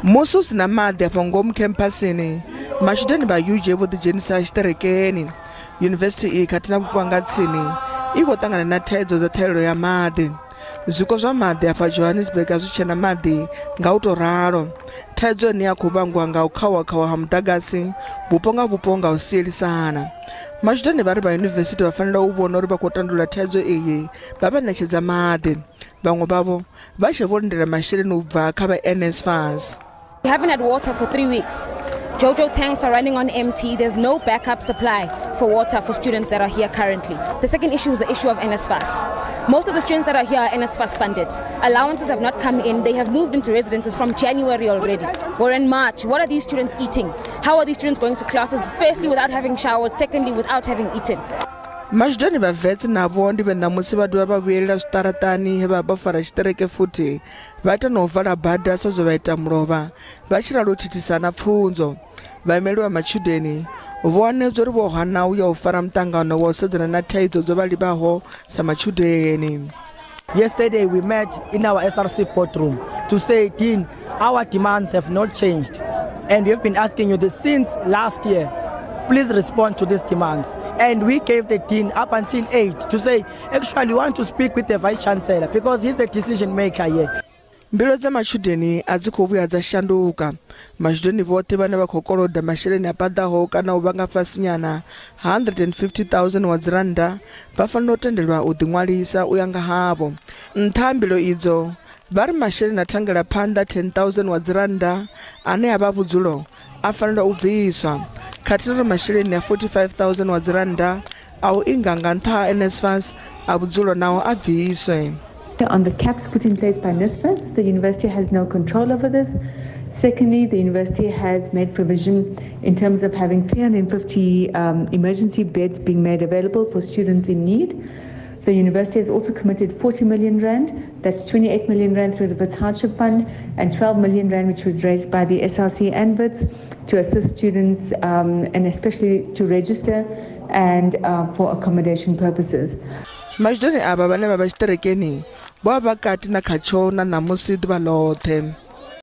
Musi hu si na maḓi afho ngomu khemphasini, matshudeni vha UJ vho ḓidzhenisa tshiṱerekeni. Yunivesithi iyi khathihi na vhupo ha nga tsini i khou ṱangana na thaidzo dza ṱhahelelo ya maḓi. Zwiko zwa maḓi afha Johannesburg a zwi tshena maḓi nga u tou ralo. Thaidzo ine ya khou vhangwa nga u khauwa-khauwa ha muḓagasi vhupo nga vhupo nga u sielisana. Matshudeni vha ri vha yunivesithi vha fanela u vhona uri vha khou tandulula thaidzo iyi vha vha ṋetshedza maḓi. Vhaṅwe vhavho vha tshe vho lindela masheleni u bva kha vha NSFAS. We haven't had water for 3 weeks. Jojo tanks are running on empty. There's no backup supply for water for students that are here currently. The second issue is the issue of NSFAS. Most of the students that are here are NSFAS funded. Allowances have not come in. They have moved into residences from January already. We're in March. What are these students eating? How are these students going to classes? Firstly, without having showered. Secondly, without having eaten. Matshudeni vha Wits navho ndi vhe ṋamusi vha dovha vha vhuyelela zwiṱaraṱani he vha vha fara tshiṱereke futhi vha ita na u vala bada sa zwe vha ita mulovha vha tshi ralo u thithisa na pfunzo. Vhaimeli vha matshudeni vho hanedzwa uri vho hana u ya u fara muṱangano wa u sedzana na thaidzo dzo vha livhaho sa matshudeni. Yesterday we met in our SRC boardroom to say, Dean, our demands have not changed and we have been asking you this since last year. Please respond to these demands. And we gave the dean up until 8 to say, actually, we want to speak with the vice chancellor because he's the decision maker here. Mbilo dza matshudeni a dzi khou vhuya dza shanduka. Matshudeni vhoṱhe vhane vha khou koloda masheleni a paḓaho kana u vha nga fhasinyana 150,000 wa dzirannda vha fanela u tendelwa u ḓiṅwalisa u ya nga havho. Nṱha ha mbilo idzo vha ri masheleni a thangela phanḓa 10,000 wa dzirannda ane a vha vhudzulo a fanela u bviswa, khathihi na uri masheleni a 45,000 wa dzirannda a u inga nga nṱha ha NSFAS a vhudzulo nao a bviswe. On the caps put in place by NSFAS, the university has no control over this. Secondly, the university has made provision in terms of having 350 emergency beds being made available for students in need. The university has also committed 40 million rand, that's 28 million rand through the Wits Hardship Fund and 12 million rand which was raised by the SRC and Wits to assist students and especially to register and for accommodation purposes. Matshudeni avha vhane vha vha tshiṱerekeni vho vha vha kati na khatsho na ṋamusi ḓuvha ḽoṱhe.